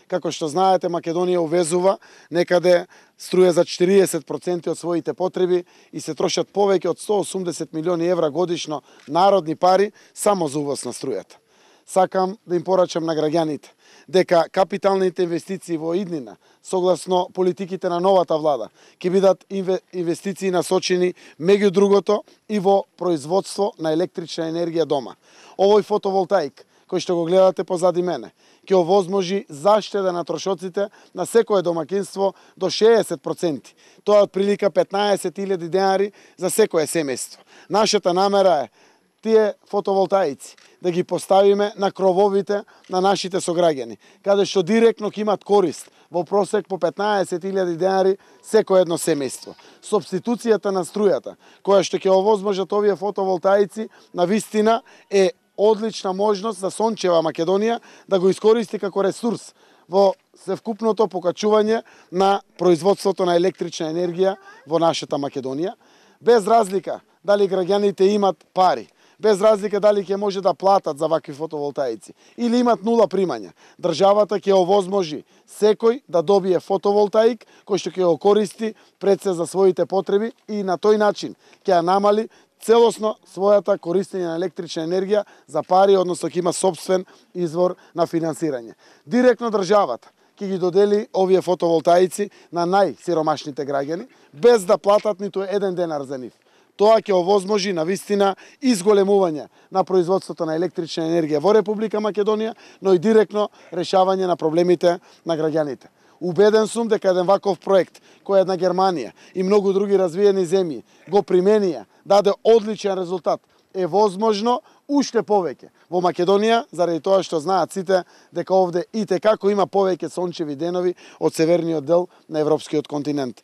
Како што знаете, Македонија увезува некаде струја за 40% од своите потреби и се трошат повеќе од 180 милиони евра годишно народни пари само за увоз на струјата. Сакам да им порачам на граѓаните дека капиталните инвестиции во иднина, согласно политиките на новата влада, ќе бидат инвестиции насочени меѓу другото и во производство на електрична енергија дома. Овој фотоволтаик кој што го гледате позади мене, ќе овозможи заштеда на трошоците на секое домакинство до 60%. Тоа е отприлика 15.000 денари за секое семејство. Нашата намера е тие фотоволтаици да ги поставиме на крововите на нашите сограѓани, каде што директно ќе имат корист во просек по 15.000 денари секое едно семејство. Субституцијата на струјата, која што ќе овозможат овие фотоволтаици, навистина е одлична можност за сончева Македонија да го искористи како ресурс во севкупното покачување на производството на електрична енергија во нашата Македонија, без разлика дали граѓаните имат пари, без разлика дали ќе може да платат за вакви фотоволтаици или имат нула примања. Државата ќе овозможи секој да добие фотоволтаик кој што ќе го користи пред се за своите потреби и на тој начин ќе ја намали целосно својата користење на електрична енергија за пари, односно ќе има сопствен извор на финансирање. Директно државата ќе ги додели овие фотоволтаици на најсиромашните граѓани без да платат ниту еден денар за нив. Тоа ќе овозможи навистина изголемување на производството на електрична енергија во Република Македонија, но и директно решавање на проблемите на граѓаните. Убеден сум дека еден ваков проект, кој една Германија и многу други развиени земји го применија, даде одличен резултат, е возможно уште повеќе во Македонија, заради тоа што знаат сите дека овде итекако има повеќе сончеви денови од северниот дел на европскиот континент.